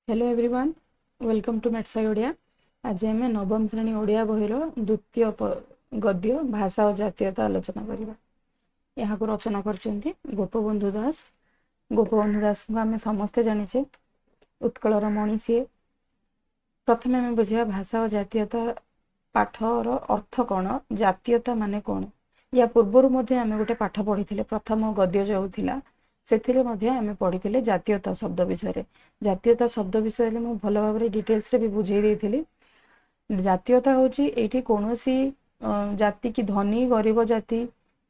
Hello everyone, welcome to ମେଟ୍ସାଇ Odia. ଆଜି ଆମେ ନବମ ଶ୍ରେଣୀ ଓଡ଼ିଆ ବହିର ଦ୍ୱିତୀୟ ଗଦ୍ୟ ଭାଷା ଓ ଜାତୀୟତା ଆଲୋଚନା କରିବା। ଏହାକୁ ରଚନା କରିଛନ୍ତି ଗୋପବନ୍ଧୁ ଦାସ। ଗୋପବନ୍ଧୁ ଦାସଙ୍କୁ ଆମେ ସମସ୍ତେ ଜାଣିଛେ, ଉତ୍କଳର ମଣି ସିଏ। ପ୍ରଥମେ ଆମେ ବୁଝିବା ଭାଷା ଓ ଜାତୀୟତା ପାଠର ଅର୍ଥ କ'ଣ, ଜାତୀୟତା ମାନେ କ'ଣ। ୟା ପୂର୍ବରୁ ମଧ୍ୟ ଆମେ ଗୋଟେ ପାଠ ପଢ଼ିଥିଲେ, ପ୍ରଥମ ଗଦ୍ୟ ଯେଉଁ ଥିଲା ସେଥିରେ ମଧ୍ୟ ଆମେ ପଢ଼ିଥିଲେ ଜାତୀୟତା ଶବ୍ଦ ବିଷୟରେ। ଜାତୀୟତା ଶବ୍ଦ ବିଷୟରେ ମୁଁ ଭଲ ଭାବରେ ଡିଟେଲ୍ସରେ ବି ବୁଝେଇ ଦେଇଥିଲି। ଜାତୀୟତା ହେଉଛି ଏଇଠି କୌଣସି ଜାତି କି ଧନୀ ଗରିବ ଜାତି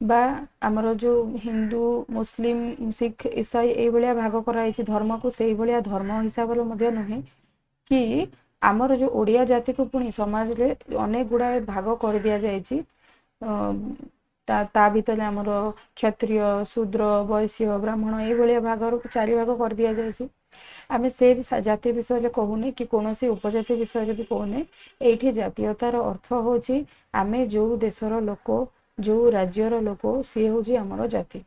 ବା ଆମର ଯେଉଁ ହିନ୍ଦୁ, ମୁସଲିମ, ଶିଖ, ଇସାଇ ଏଇଭଳିଆ ଭାଗ କରାଯାଇଛି ଧର୍ମକୁ, ସେଇଭଳିଆ ଧର୍ମ ହିସାବରେ ମଧ୍ୟ ନୁହେଁ କି ଆମର ଯେଉଁ ଓଡ଼ିଆ ଜାତିକୁ ପୁଣି ସମାଜରେ ଅନେକ ଗୁଡ଼ାଏ ଭାଗ କରିଦିଆଯାଇଛି। ତା ଭିତରେ ଆମର କ୍ଷତ୍ରିୟ, ଶୂଦ୍ର, ବୈଶ୍ୟ, ବ୍ରାହ୍ମଣ ଏଇଭଳିଆ ଭାଗରୁ ଚାରି ଭାଗ କରିଦିଆଯାଇଛି। ଆମେ ସେ ଜାତି ବିଷୟରେ କହୁନେ କି କୌଣସି ଉପଜାତି ବିଷୟରେ ବି କହୁନେ। ଏଇଠି ଜାତୀୟତାର ଅର୍ଥ ହେଉଛି ଆମେ ଯେଉଁ ଦେଶର ଲୋକ, ଯେଉଁ ରାଜ୍ୟର ଲୋକ, ସିଏ ହେଉଛି ଆମର ଜାତି।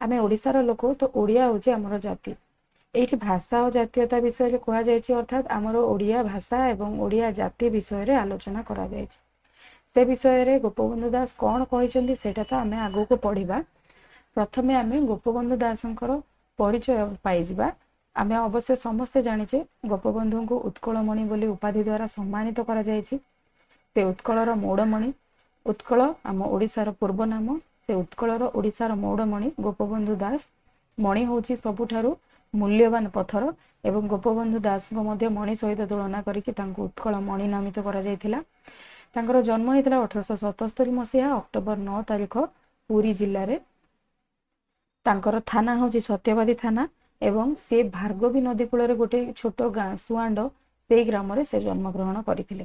ଆମେ ଓଡ଼ିଶାର ଲୋକ ତ ଓଡ଼ିଆ ହେଉଛି ଆମର ଜାତି। ଏଇଠି ଭାଷା ଓ ଜାତୀୟତା ବିଷୟରେ କୁହାଯାଇଛି, ଅର୍ଥାତ୍ ଆମର ଓଡ଼ିଆ ଭାଷା ଏବଂ ଓଡ଼ିଆ ଜାତି ବିଷୟରେ ଆଲୋଚନା କରାଯାଇଛି। ସେ ବିଷୟରେ ଗୋପବନ୍ଧୁ ଦାସ କ'ଣ କହିଛନ୍ତି ସେଇଟା ତ ଆମେ ଆଗକୁ ପଢ଼ିବା। ପ୍ରଥମେ ଆମେ ଗୋପବନ୍ଧୁ ଦାସଙ୍କର ପରିଚୟ ପାଇଯିବା। ଆମେ ଅବଶ୍ୟ ସମସ୍ତେ ଜାଣିଛେ ଗୋପବନ୍ଧୁଙ୍କୁ ଉତ୍କଳମଣି ବୋଲି ଉପାଧି ଦ୍ୱାରା ସମ୍ମାନିତ କରାଯାଇଛି। ସେ ଉତ୍କଳର ମୌଡ଼ମଣି। ଉତ୍କଳ ଆମ ଓଡ଼ିଶାର ପୂର୍ବ ନାମ। ସେ ଉତ୍କଳର ଓଡ଼ିଶାର ମୌଡ଼ମଣି ଗୋପବନ୍ଧୁ ଦାସ। ମଣି ହେଉଛି ସବୁଠାରୁ ମୂଲ୍ୟବାନ ପଥର ଏବଂ ଗୋପବନ୍ଧୁ ଦାସଙ୍କୁ ମଧ୍ୟ ମଣି ସହିତ ତୁଳନା କରିକି ତାଙ୍କୁ ଉତ୍କଳ ମଣି ନାମିତ କରାଯାଇଥିଲା। ତାଙ୍କର ଜନ୍ମ ହେଇଥିଲା 1877 ମସିହା ଅକ୍ଟୋବର 9 ତାରିଖ ପୁରୀ ଜିଲ୍ଲାରେ। ତାଙ୍କର ଥାନା ହେଉଛି ସତ୍ୟବାଦୀ ଥାନା ଏବଂ ସେ ଭାର୍ଗବୀ ନଦୀ କୂଳରେ ଗୋଟେ ଛୋଟ ଗାଁ ସୁଆଣ୍ଡ, ସେଇ ଗ୍ରାମରେ ସେ ଜନ୍ମଗ୍ରହଣ କରିଥିଲେ।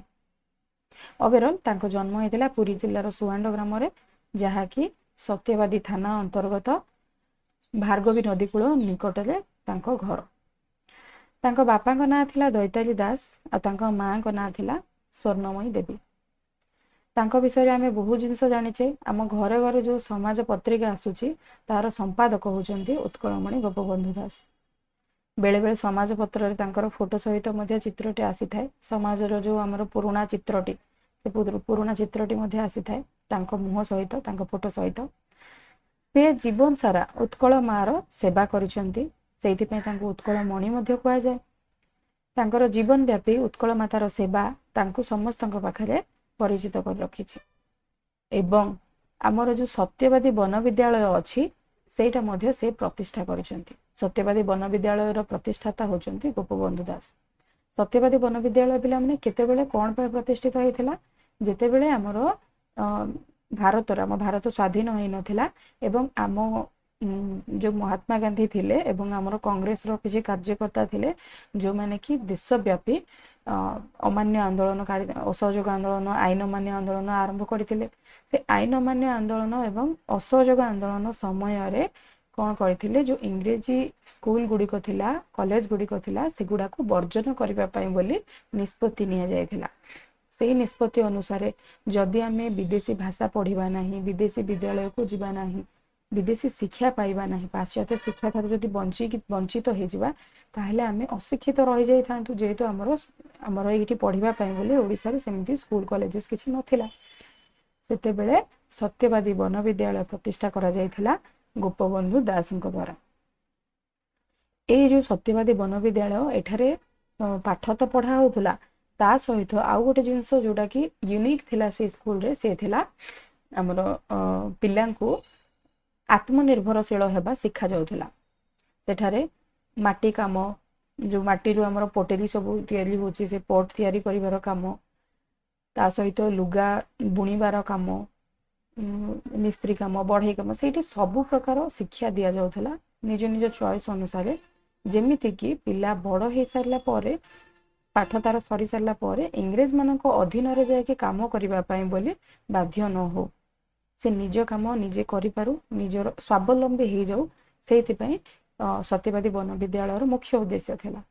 ଓଭରଅଲ୍ ତାଙ୍କ ଜନ୍ମ ହେଇଥିଲା ପୁରୀ ଜିଲ୍ଲାର ସୁଆଣ୍ଡ ଗ୍ରାମରେ, ଯାହାକି ସତ୍ୟବାଦୀ ଥାନା ଅନ୍ତର୍ଗତ ଭାର୍ଗବୀ ନଦୀ କୂଳ ନିକଟରେ ତାଙ୍କ ଘର। ତାଙ୍କ ବାପାଙ୍କ ନାଁ ଥିଲା ଦୈତାରୀ ଦାସ ଆଉ ତାଙ୍କ ମାଆଙ୍କ ନାଁ ଥିଲା ସ୍ୱର୍ଣ୍ଣମୟୀ ଦେବୀ। ତାଙ୍କ ବିଷୟରେ ଆମେ ବହୁତ ଜିନିଷ ଜାଣିଛେ। ଆମ ଘରେ ଘରେ ଯେଉଁ ସମାଜ ପତ୍ରିକା ଆସୁଛି ତାର ସମ୍ପାଦକ ହେଉଛନ୍ତି ଉତ୍କଳମଣି ଗୋପବନ୍ଧୁ ଦାସ। ବେଳେବେଳେ ସମାଜ ପତ୍ରରେ ତାଙ୍କର ଫଟୋ ସହିତ ମଧ୍ୟ ଚିତ୍ରଟି ଆସିଥାଏ। ସମାଜର ଯେଉଁ ଆମର ପୁରୁଣା ଚିତ୍ରଟି, ସେ ପୁରୁଣା ଚିତ୍ରଟି ମଧ୍ୟ ଆସିଥାଏ ତାଙ୍କ ମୁହଁ ସହିତ, ତାଙ୍କ ଫଟୋ ସହିତ। ସେ ଜୀବନ ସାରା ଉତ୍କଳ ମାର ସେବା କରିଛନ୍ତି, ସେଇଥିପାଇଁ ତାଙ୍କୁ ଉତ୍କଳ ମଣି ମଧ୍ୟ କୁହାଯାଏ। ତାଙ୍କର ଜୀବନ ବ୍ୟାପୀ ଉତ୍କଳ ମାତାର ସେବା ତାଙ୍କୁ ସମସ୍ତଙ୍କ ପାଖରେ ପରିଚିତ କରି ରଖିଛି। ଏବଂ ଆମର ଯେଉଁ ସତ୍ୟବାଦୀ ବନବିଦ୍ୟାଳୟ ଅଛି ସେଇଟା ମଧ୍ୟ ସେ ପ୍ରତିଷ୍ଠା କରିଛନ୍ତି। ସତ୍ୟବାଦୀ ବନବିଦ୍ୟାଳୟର ପ୍ରତିଷ୍ଠାତା ହେଉଛନ୍ତି ଗୋପବନ୍ଧୁ ଦାସ। ସତ୍ୟବାଦୀ ବନବିଦ୍ୟାଳୟ ପିଲାମାନେ କେତେବେଳେ କ'ଣ ପାଇଁ ପ୍ରତିଷ୍ଠିତ ହେଇଥିଲା? ଯେତେବେଳେ ଆମର ଭାରତର ଆମ ଭାରତ ସ୍ୱାଧୀନ ହେଇନଥିଲା ଏବଂ ଆମ ଯେଉଁ ମହାତ୍ମା ଗାନ୍ଧୀ ଥିଲେ ଏବଂ ଆମର କଂଗ୍ରେସର କିଛି କାର୍ଯ୍ୟକର୍ତ୍ତା ଥିଲେ ଯେଉଁମାନେ କି ଦେଶବ୍ୟାପୀ ଅମାନ୍ୟ ଆନ୍ଦୋଳନ, ଅସହଯୋଗ ଆନ୍ଦୋଳନ, ଆଇନ ଅମାନ୍ୟ ଆନ୍ଦୋଳନ ଆରମ୍ଭ କରିଥିଲେ। ସେ ଆଇନ ଅମାନ୍ୟ ଆନ୍ଦୋଳନ ଏବଂ ଅସହଯୋଗ ଆନ୍ଦୋଳନ ସମୟରେ କ'ଣ କରିଥିଲେ, ଯେଉଁ ଇଂରେଜୀ ସ୍କୁଲ ଗୁଡ଼ିକ ଥିଲା, କଲେଜ ଗୁଡ଼ିକ ଥିଲା, ସେଗୁଡ଼ାକୁ ବର୍ଜନ କରିବା ପାଇଁ ବୋଲି ନିଷ୍ପତ୍ତି ନିଆଯାଇଥିଲା। ସେଇ ନିଷ୍ପତ୍ତି ଅନୁସାରେ ଯଦି ଆମେ ବିଦେଶୀ ଭାଷା ପଢ଼ିବା ନାହିଁ, ବିଦେଶୀ ବିଦ୍ୟାଳୟକୁ ଯିବା ନାହିଁ, ବିଦେଶୀ ଶିକ୍ଷା ପାଇବା ନାହିଁ, ପାଶ୍ଚାତ୍ୟ ଶିକ୍ଷା ଠାରୁ ଯଦି ବଞ୍ଚିତ ହେଇଯିବା, ତାହେଲେ ଆମେ ଅଶିକ୍ଷିତ ରହିଯାଇଥାନ୍ତୁ। ଯେହେତୁ ଆମର ଏଇଠି ପଢ଼ିବା ପାଇଁ ବୋଲି ଓଡ଼ିଶାରେ ସେମିତି ସ୍କୁଲ କଲେଜେସ୍ କିଛି ନଥିଲା। ସେତେବେଳେ ସତ୍ୟବାଦୀ ବନବିଦ୍ୟାଳୟ ପ୍ରତିଷ୍ଠା କରାଯାଇଥିଲା ଗୋପବନ୍ଧୁ ଦାସଙ୍କ ଦ୍ୱାରା। ଏଇ ଯେଉଁ ସତ୍ୟବାଦୀ ବନବିଦ୍ୟାଳୟ, ଏଠାରେ ପାଠ ତ ପଢ଼ା ହେଉଥିଲା, ତା ସହିତ ଆଉ ଗୋଟେ ଜିନିଷ ଯେଉଁଟାକି ୟୁନିକ୍ ଥିଲା ସେ ସ୍କୁଲରେ, ସେ ଥିଲା ଆମର ପିଲାଙ୍କୁ ଆତ୍ମନିର୍ଭରଶୀଳ ହେବା ଶିଖାଯାଉଥିଲା। ସେଠାରେ ମାଟି କାମ, ଯେଉଁ ମାଟିରୁ ଆମର ପୋଟେରୀ ସବୁ ତିଆରି ହେଉଛି, ସେ ପଟ୍ ତିଆରି କରିବାର କାମ, ତା ସହିତ ଲୁଗା ବୁଣିବାର କାମ, ମିସ୍ତ୍ରୀ କାମ, ବଢ଼େଇ କାମ, ସେଇଠି ସବୁ ପ୍ରକାର ଶିକ୍ଷା ଦିଆଯାଉଥିଲା ନିଜ ନିଜ ଚଏସ୍ ଅନୁସାରେ। ଯେମିତିକି ପିଲା ବଡ଼ ହେଇସାରିଲା ପରେ, ପାଠ ତାର ସରିସାରିଲା ପରେ ଇଂରେଜମାନଙ୍କ ଅଧୀନରେ ଯାଇକି କାମ କରିବା ପାଇଁ ବୋଲି ବାଧ୍ୟ ନ ହଉ, ସେ ନିଜ କାମ ନିଜେ କରିପାରୁ, ନିଜର ସ୍ୱାବଲମ୍ବୀ ହେଇଯାଉ, ସେଇଥିପାଇଁ ସତ୍ୟବାଦୀ ବନବିଦ୍ୟାଳୟର ମୁଖ୍ୟ ଉଦ୍ଦେଶ୍ୟ ଥିଲା।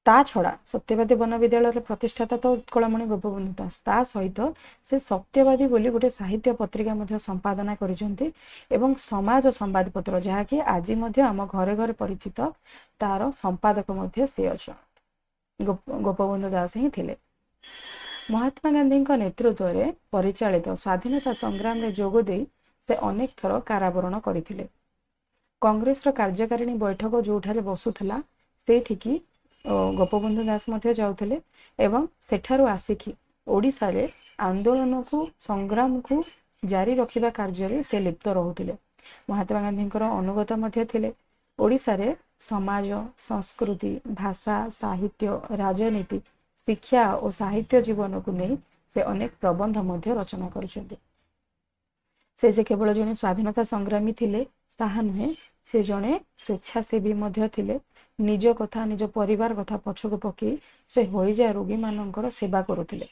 ତା ଛଡ଼ା ସତ୍ୟବାଦୀ ବନବିଦ୍ୟାଳୟର ପ୍ରତିଷ୍ଠାତା ତ ଉତ୍କଳମଣି ଗୋପବନ୍ଧୁ ଦାସ, ତା ସହିତ ସେ ସତ୍ୟବାଦୀ ବୋଲି ଗୋଟେ ସାହିତ୍ୟ ପତ୍ରିକା ମଧ୍ୟ ସମ୍ପାଦନା କରିଛନ୍ତି ଏବଂ ସମାଜ ସମ୍ବାଦପତ୍ର, ଯାହାକି ଆଜି ମଧ୍ୟ ଆମ ଘରେ ଘରେ ପରିଚିତ, ତାର ସମ୍ପାଦକ ମଧ୍ୟ ସେ ଅଛନ୍ତି, ଗୋପବନ୍ଧୁ ଦାସ ହିଁ ଥିଲେ। ମହାତ୍ମା ଗାନ୍ଧୀଙ୍କ ନେତୃତ୍ୱରେ ପରିଚାଳିତ ସ୍ୱାଧୀନତା ସଂଗ୍ରାମରେ ଯୋଗ ଦେଇ ସେ ଅନେକ ଥର କାରାବରଣ କରିଥିଲେ। କଂଗ୍ରେସର କାର୍ଯ୍ୟକାରିଣୀ ବୈଠକ ଯେଉଁଠାରେ ବସୁଥିଲା, ସେଇଠିକି ଗୋପବନ୍ଧୁ ଦାସ ମଧ୍ୟ ଯାଉଥିଲେ ଏବଂ ସେଠାରୁ ଆସିକି ଓଡ଼ିଶାରେ ଆନ୍ଦୋଳନକୁ, ସଂଗ୍ରାମକୁ ଜାରି ରଖିବା କାର୍ଯ୍ୟରେ ସେ ଲିପ୍ତ ରହୁଥିଲେ। ମହାତ୍ମା ଗାନ୍ଧୀଙ୍କର ଅନୁଗତ ମଧ୍ୟ ଥିଲେ। ଓଡ଼ିଶାରେ ସମାଜ, ସଂସ୍କୃତି, ଭାଷା, ସାହିତ୍ୟ, ରାଜନୀତି, ଶିକ୍ଷା ଓ ସାହିତ୍ୟ ଜୀବନକୁ ନେଇ ସେ ଅନେକ ପ୍ରବନ୍ଧ ମଧ୍ୟ ରଚନା କରିଛନ୍ତି। ସେ ଯେ କେବଳ ଜଣେ ସ୍ୱାଧୀନତା ସଂଗ୍ରାମୀ ଥିଲେ ତାହା ନୁହେଁ, ସେ ଜଣେ ସ୍ୱେଚ୍ଛାସେବୀ ମଧ୍ୟ ଥିଲେ। ନିଜ କଥା, ନିଜ ପରିବାର କଥା ପଛକୁ ପକେଇ ସେ ହଇଜା ରୋଗୀମାନଙ୍କର ସେବା କରୁଥିଲେ।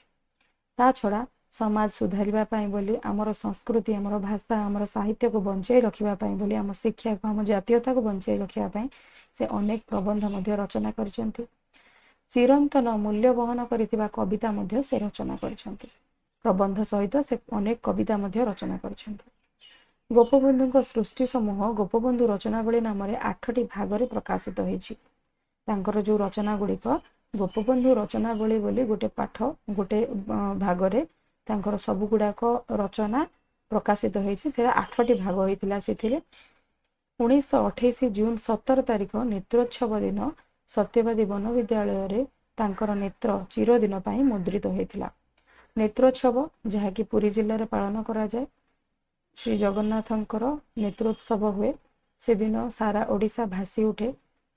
ତା ଛଡ଼ା ସମାଜ ସୁଧାରିବା ପାଇଁ ବୋଲି, ଆମର ସଂସ୍କୃତି, ଆମର ଭାଷା, ଆମର ସାହିତ୍ୟକୁ ବଞ୍ଚାଇ ରଖିବା ପାଇଁ ବୋଲି, ଆମ ଶିକ୍ଷାକୁ, ଆମ ଜାତୀୟତାକୁ ବଞ୍ଚାଇ ରଖିବା ପାଇଁ ସେ ଅନେକ ପ୍ରବନ୍ଧ ମଧ୍ୟ ରଚନା କରିଛନ୍ତି। ଚିରନ୍ତନ ମୂଲ୍ୟ ବହନ କରିଥିବା କବିତା ମଧ୍ୟ ସେ ରଚନା କରିଛନ୍ତି। ପ୍ରବନ୍ଧ ସହିତ ସେ ଅନେକ କବିତା ମଧ୍ୟ ରଚନା କରିଛନ୍ତି। ଗୋପବନ୍ଧୁଙ୍କ ସୃଷ୍ଟି ସମୂହ ଗୋପବନ୍ଧୁ ରଚନାବଳୀ ନାମରେ 8ଟି ଭାଗରେ ପ୍ରକାଶିତ ହୋଇଛି। ତାଙ୍କର ଯେଉଁ ରଚନା ଗୁଡ଼ିକ ଗୋପବନ୍ଧୁ ରଚନାବଳୀ ବୋଲି ଗୋଟେ ପାଠ, ଗୋଟେ ଭାଗରେ ତାଙ୍କର ସବୁଗୁଡ଼ାକ ରଚନା ପ୍ରକାଶିତ ହୋଇଛି। ସେଟା 8ଟି ଭାଗ ହୋଇଥିଲା। ସେଥିରେ 1928 ଜୁନ 17 ତାରିଖ ନେତ୍ରୋତ୍ସବ ଦିନ ସତ୍ୟବାଦୀ ବନବିଦ୍ୟାଳୟରେ ତାଙ୍କର ନେତ୍ର ଚିରଦିନ ପାଇଁ ମୁଦ୍ରିତ ହୋଇଥିଲା। ନେତ୍ରୋତ୍ସବ ଯାହାକି ପୁରୀ ଜିଲ୍ଲାରେ ପାଳନ କରାଯାଏ, ଶ୍ରୀ ଜଗନ୍ନାଥଙ୍କର ନେତ୍ରୋତ୍ସବ ହୁଏ। ସେଦିନ ସାରା ଓଡ଼ିଶା ଭାସି ଉଠେ।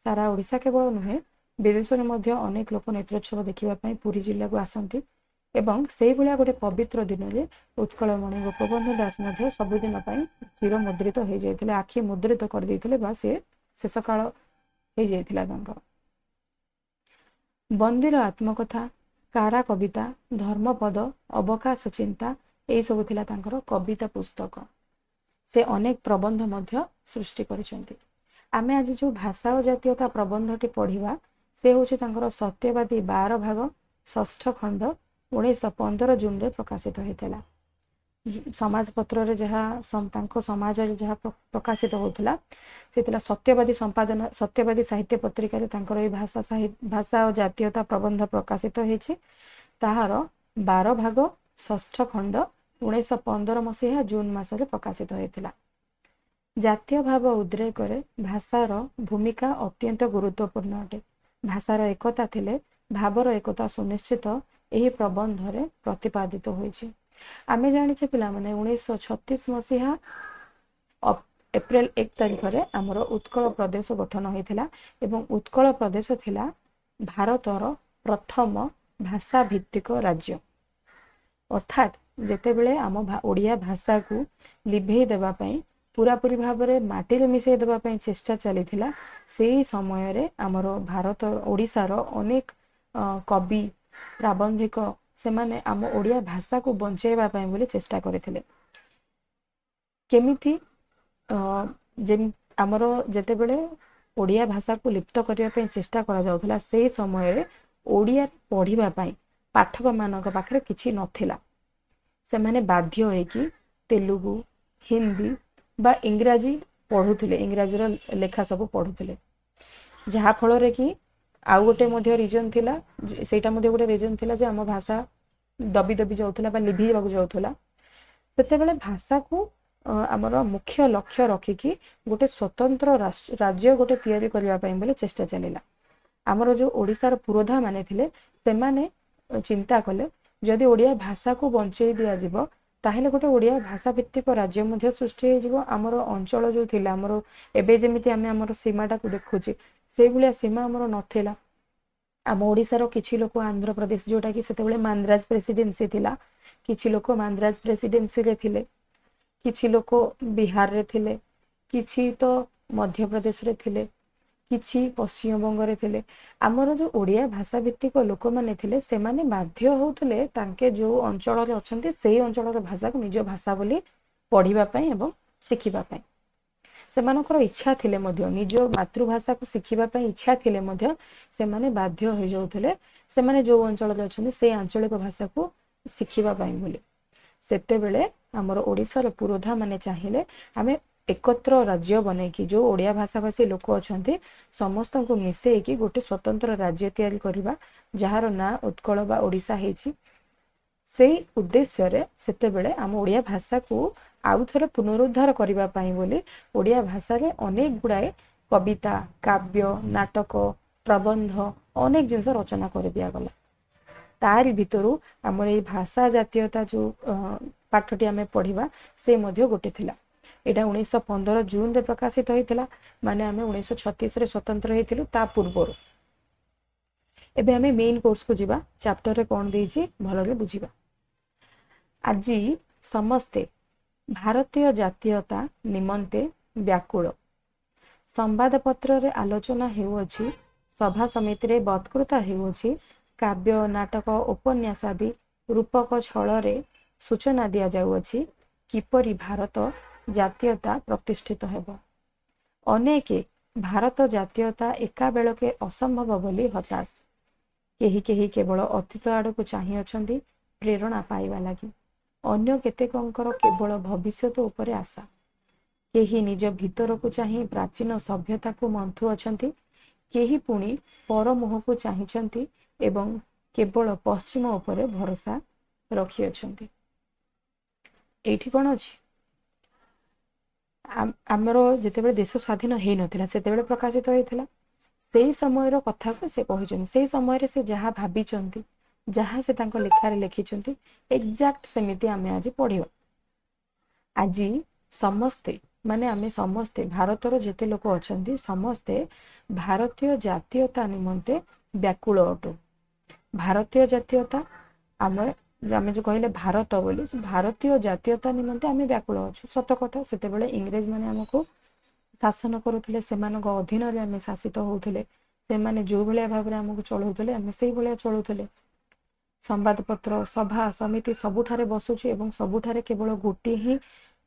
ସାରା ଓଡ଼ିଶା କେବଳ ନୁହେଁ, ବିଦେଶରେ ମଧ୍ୟ ଅନେକ ଲୋକ ନେତ୍ରୋତ୍ସବ ଦେଖିବା ପାଇଁ ପୁରୀ ଜିଲ୍ଲାକୁ ଆସନ୍ତି ଏବଂ ସେଇଭଳିଆ ଗୋଟେ ପବିତ୍ର ଦିନରେ ଉତ୍କଳମଣି ଗୋପବନ୍ଧୁ ଦାସ ମଧ୍ୟ ସବୁଦିନ ପାଇଁ ଚିରମୁଦ୍ରିତ ହେଇଯାଇଥିଲେ, ଆଖି ମୁଦ୍ରିତ କରିଦେଇଥିଲେ ବା ସେ ଶେଷକାଳ ହେଇଯାଇଥିଲା ତାଙ୍କର। ବନ୍ଦୀର ଆତ୍ମକଥା, କାରା କବିତା, ଧର୍ମପଦ, ଅବକାଶ ଚିନ୍ତା, ଏଇସବୁ ଥିଲା ତାଙ୍କର କବିତା ପୁସ୍ତକ। ସେ ଅନେକ ପ୍ରବନ୍ଧ ମଧ୍ୟ ସୃଷ୍ଟି କରିଛନ୍ତି। ଆମେ ଆଜି ଯେଉଁ ଭାଷା ଓ ଜାତୀୟତା ପ୍ରବନ୍ଧଟି ପଢ଼ିବା, ସେ ହେଉଛି ତାଙ୍କର ସତ୍ୟବାଦୀ 12 ଭାଗ ଷଷ୍ଠ ଖଣ୍ଡ, 1915 ଜୁନରେ ପ୍ରକାଶିତ ହୋଇଥିଲା। ସମାଜପତ୍ରରେ ଯାହା, ତାଙ୍କ ସମାଜରେ ଯାହା ପ୍ରକାଶିତ ହେଉଥିଲା, ସେ ଥିଲା ସତ୍ୟବାଦୀ ସମ୍ପାଦନା, ସତ୍ୟବାଦୀ ସାହିତ୍ୟ ପତ୍ରିକାରେ ତାଙ୍କର ଏଇ ଭାଷା ଓ ଜାତୀୟତା ପ୍ରବନ୍ଧ ପ୍ରକାଶିତ ହେଇଛି। ତାହାର 12 ଭାଗ ଷଷ୍ଠ ଖଣ୍ଡ 1915 ମସିହା ଜୁନ ମାସରେ ପ୍ରକାଶିତ ହୋଇଥିଲା। ଜାତୀୟ ଭାବ ଉଦ୍ରେକରେ ଭାଷାର ଭୂମିକା ଅତ୍ୟନ୍ତ ଗୁରୁତ୍ୱପୂର୍ଣ୍ଣ ଅଟେ। ଭାଷାର ଏକତା ଥିଲେ ଭାବର ଏକତା ସୁନିଶ୍ଚିତ, ଏହି ପ୍ରବନ୍ଧରେ ପ୍ରତିପାଦିତ ହୋଇଛି। ଆମେ ଜାଣିଛେ ପିଲାମାନେ, 1936 ମସିହା ଏପ୍ରିଲ 1 ତାରିଖରେ ଆମର ଉତ୍କଳ ପ୍ରଦେଶ ଗଠନ ହୋଇଥିଲା ଏବଂ ଉତ୍କଳ ପ୍ରଦେଶ ଥିଲା ଭାରତର ପ୍ରଥମ ଭାଷା ଭିତ୍ତିକ ରାଜ୍ୟ। ଅର୍ଥାତ୍ ଯେତେବେଳେ ଆମ ଓଡ଼ିଆ ଭାଷାକୁ ଲିଭେଇ ଦେବା ପାଇଁ, ପୁରାପୁରି ଭାବରେ ମାଟିରେ ମିଶାଇ ଦେବା ପାଇଁ ଚେଷ୍ଟା ଚାଲିଥିଲା, ସେଇ ସମୟରେ ଆମର ଭାରତ ଓଡ଼ିଶାର ଅନେକ କବି, ପ୍ରାବନ୍ଧିକ ସେମାନେ ଆମ ଓଡ଼ିଆ ଭାଷାକୁ ବଞ୍ଚାଇବା ପାଇଁ ବୋଲି ଚେଷ୍ଟା କରିଥିଲେ। କେମିତି? ଆମର ଯେତେବେଳେ ଓଡ଼ିଆ ଭାଷାକୁ ଲିପ୍ତ କରିବା ପାଇଁ ଚେଷ୍ଟା କରାଯାଉଥିଲା, ସେଇ ସମୟରେ ଓଡ଼ିଆ ପଢ଼ିବା ପାଇଁ ପାଠକମାନଙ୍କ ପାଖରେ କିଛି ନଥିଲା। ସେମାନେ ବାଧ୍ୟ ହେଇକି ତେଲୁଗୁ, ହିନ୍ଦୀ ବା ଇଂରାଜୀ ପଢ଼ୁଥିଲେ, ଇଂରାଜୀର ଲେଖା ସବୁ ପଢ଼ୁଥିଲେ। ଯାହାଫଳରେ କି ଆଉ ଗୋଟେ ମଧ୍ୟ ରିଜନ୍ ଥିଲା, ସେଇଟା ମଧ୍ୟ ଗୋଟେ ରିଜନ୍ ଥିଲା ଯେ ଆମ ଭାଷା ଦବି ଦବି ଯାଉଥିଲା ବା ଲିଭିଯିବାକୁ ଯାଉଥିଲା। ସେତେବେଳେ ଭାଷାକୁ ଆମର ମୁଖ୍ୟ ଲକ୍ଷ୍ୟ ରଖିକି ଗୋଟେ ସ୍ୱତନ୍ତ୍ର ରାଜ୍ୟ ଗୋଟେ ତିଆରି କରିବା ପାଇଁ ବୋଲି ଚେଷ୍ଟା ଚାଲିଲା। ଆମର ଯେଉଁ ଓଡ଼ିଶାର ପୁରୋଧା ମାନେ ଥିଲେ, ସେମାନେ ଚିନ୍ତା କଲେ, ଯଦି ଓଡ଼ିଆ ଭାଷାକୁ ବଞ୍ଚେଇ ଦିଆଯିବ ତାହେଲେ ଗୋଟେ ଓଡ଼ିଆ ଭାଷା ଭିତ୍ତିକ ରାଜ୍ୟ ମଧ୍ୟ ସୃଷ୍ଟି ହେଇଯିବ। ଆମର ଅଞ୍ଚଳ ଯେଉଁ ଥିଲା, ଆମର ଏବେ ଯେମିତି ଆମେ ଆମର ସୀମାଟାକୁ ଦେଖୁଛେ, ସେଇଭଳିଆ ସୀମା ଆମର ନଥିଲା। ଆମ ଓଡ଼ିଶାର କିଛି ଲୋକ ଆନ୍ଧ୍ରପ୍ରଦେଶ, ଯେଉଁଟାକି ସେତେବେଳେ ମାନ୍ଦ୍ରାଜ ପ୍ରେସିଡେନ୍ସି ଥିଲା, କିଛି ଲୋକ ମାନ୍ଦ୍ରାଜ ପ୍ରେସିଡେନ୍ସିରେ ଥିଲେ, କିଛି ଲୋକ ବିହାରରେ ଥିଲେ, କିଛି ତ ମଧ୍ୟପ୍ରଦେଶରେ ଥିଲେ, କିଛି ପଶ୍ଚିମବଙ୍ଗରେ ଥିଲେ। ଆମର ଯେଉଁ ଓଡ଼ିଆ ଭାଷା ଭିତ୍ତିକ ଲୋକମାନେ ଥିଲେ, ସେମାନେ ବାଧ୍ୟ ହେଉଥିଲେ ତାଙ୍କେ ଯେଉଁ ଅଞ୍ଚଳରେ ଅଛନ୍ତି ସେଇ ଅଞ୍ଚଳର ଭାଷାକୁ ନିଜ ଭାଷା ବୋଲି ପଢ଼ିବା ପାଇଁ ଏବଂ ଶିଖିବା ପାଇଁ। ସେମାନଙ୍କର ଇଚ୍ଛା ଥିଲେ ମଧ୍ୟ, ନିଜ ମାତୃଭାଷାକୁ ଶିଖିବା ପାଇଁ ଇଚ୍ଛା ଥିଲେ ମଧ୍ୟ ସେମାନେ ବାଧ୍ୟ ହୋଇଯାଉଥିଲେ ସେମାନେ ଯେଉଁ ଅଞ୍ଚଳରେ ଅଛନ୍ତି ସେଇ ଆଞ୍ଚଳିକ ଭାଷାକୁ ଶିଖିବା ପାଇଁ ବୋଲି। ସେତେବେଳେ ଆମର ଓଡ଼ିଶାର ପୁରୋଧା ମାନେ ଚାହିଁଲେ ଆମେ ଏକତ୍ର ରାଜ୍ୟ ବନେଇକି ଯେଉଁ ଓଡ଼ିଆ ଭାଷାଭାଷୀ ଲୋକ ଅଛନ୍ତି ସମସ୍ତଙ୍କୁ ମିଶେଇକି ଗୋଟେ ସ୍ୱତନ୍ତ୍ର ରାଜ୍ୟ ତିଆରି କରିବା, ଯାହାର ନାଁ ଉତ୍କଳ ବା ଓଡ଼ିଶା ହେଇଛି। ସେଇ ଉଦ୍ଦେଶ୍ୟରେ ସେତେବେଳେ ଆମ ଓଡ଼ିଆ ଭାଷାକୁ ଆଉ ଥରେ ପୁନରୁଦ୍ଧାର କରିବା ପାଇଁ ବୋଲି ଓଡ଼ିଆ ଭାଷାରେ ଅନେକ ଗୁଡ଼ାଏ କବିତା, କାବ୍ୟ, ନାଟକ, ପ୍ରବନ୍ଧ ଅନେକ ଜିନିଷ ରଚନା କରିଦିଆଗଲା। ତାରି ଭିତରୁ ଆମର ଏଇ ଭାଷା ଜାତୀୟତା ଯେଉଁ ପାଠଟି ଆମେ ପଢ଼ିବା ସେ ମଧ୍ୟ ଗୋଟେ ଥିଲା। ଏଇଟା 1915 ଜୁନରେ ପ୍ରକାଶିତ ହେଇଥିଲା, ମାନେ ଆମେ 1936ରେ ସ୍ୱତନ୍ତ୍ର ହେଇଥିଲୁ ତା ପୂର୍ବରୁ। ଏବେ ଆମେ ମେନ୍ କୋର୍ସକୁ ଯିବା, ଚାପ୍ଟରରେ କ'ଣ ଦେଇଛି ଭଲରେ ବୁଝିବା। ଆଜି ସମସ୍ତେ ଭାରତୀୟ ଜାତୀୟତା ନିମନ୍ତେ ବ୍ୟାକୁଳ। ସମ୍ବାଦପତ୍ରରେ ଆଲୋଚନା ହେଉଅଛି, ସଭା ସମିତିରେ ବକ୍ତୃତା ହେଉଅଛି, କାବ୍ୟ, ନାଟକ, ଉପନ୍ୟାସ ଆଦି ରୂପକ ଛଳରେ ସୂଚନା ଦିଆଯାଉଅଛି କିପରି ଭାରତ ଜାତୀୟତା ପ୍ରତିଷ୍ଠିତ ହେବ। ଅନେକେ ଭାରତ ଜାତୀୟତା ଏକାବେଳକେ ଅସମ୍ଭବ ବୋଲି ହତାଶ। କେହି କେହି କେବଳ ଅତୀତ ଆଡ଼କୁ ଚାହିଁଅଛନ୍ତି ପ୍ରେରଣା ପାଇବା ଲାଗି। ଅନ୍ୟ କେତେକଙ୍କର କେବଳ ଭବିଷ୍ୟତ ଉପରେ ଆଶା। କେହି ନିଜ ଭିତରକୁ ଚାହିଁ ପ୍ରାଚୀନ ସଭ୍ୟତାକୁ ମନ୍ଥୁଅଛନ୍ତି, କେହି ପୁଣି ପରମୁହଁକୁ ଚାହିଁଛନ୍ତି ଏବଂ କେବଳ ପଶ୍ଚିମ ଉପରେ ଭରସା ରଖିଅଛନ୍ତି। ଏଇଠି କ'ଣ ଅଛି? ଆମର ଯେତେବେଳେ ଦେଶ ସ୍ୱାଧୀନ ହେଇନଥିଲା ସେତେବେଳେ ପ୍ରକାଶିତ ହେଇଥିଲା, ସେଇ ସମୟର କଥାକୁ ସେ କହିଛନ୍ତି। ସେଇ ସମୟରେ ସେ ଯାହା ଭାବିଛନ୍ତି, ଯାହା ସେ ତାଙ୍କ ଲେଖାରେ ଲେଖିଛନ୍ତି, ଏକ୍ଜାକ୍ଟ ସେମିତି ଆମେ ଆଜି ପଢ଼ିବା। ଆଜି ସମସ୍ତେ, ମାନେ ଆମେ ସମସ୍ତେ, ଭାରତର ଯେତେ ଲୋକ ଅଛନ୍ତି ସମସ୍ତେ ଭାରତୀୟ ଜାତୀୟତା ନିମନ୍ତେ ବ୍ୟାକୁଳ ଅଟୁ। ଭାରତୀୟ ଜାତୀୟତା, ଆମେ ଯେଉଁ କହିଲେ ଭାରତ ବୋଲି, ଭାରତୀୟ ଜାତୀୟତା ନିମନ୍ତେ ଆମେ ବ୍ୟାକୁଳ ଅଛୁ। ସତ କଥା, ସେତେବେଳେ ଇଂରେଜ ମାନେ ଆମକୁ ଶାସନ କରୁଥିଲେ, ସେମାନଙ୍କ ଅଧୀନରେ ଆମେ ଶାସିତ ହେଉଥିଲେ, ସେମାନେ ଯେଉଁ ଭଳିଆ ଭାବରେ ଆମକୁ ଚଳାଉଥିଲେ ଆମେ ସେଇଭଳିଆ ଚଳୁଥିଲେ। ସମ୍ବାଦପତ୍ର, ସଭା ସମିତି ସବୁଠାରେ ବସୁଛି ଏବଂ ସବୁଠାରେ କେବଳ ଗୋଟିଏ ହିଁ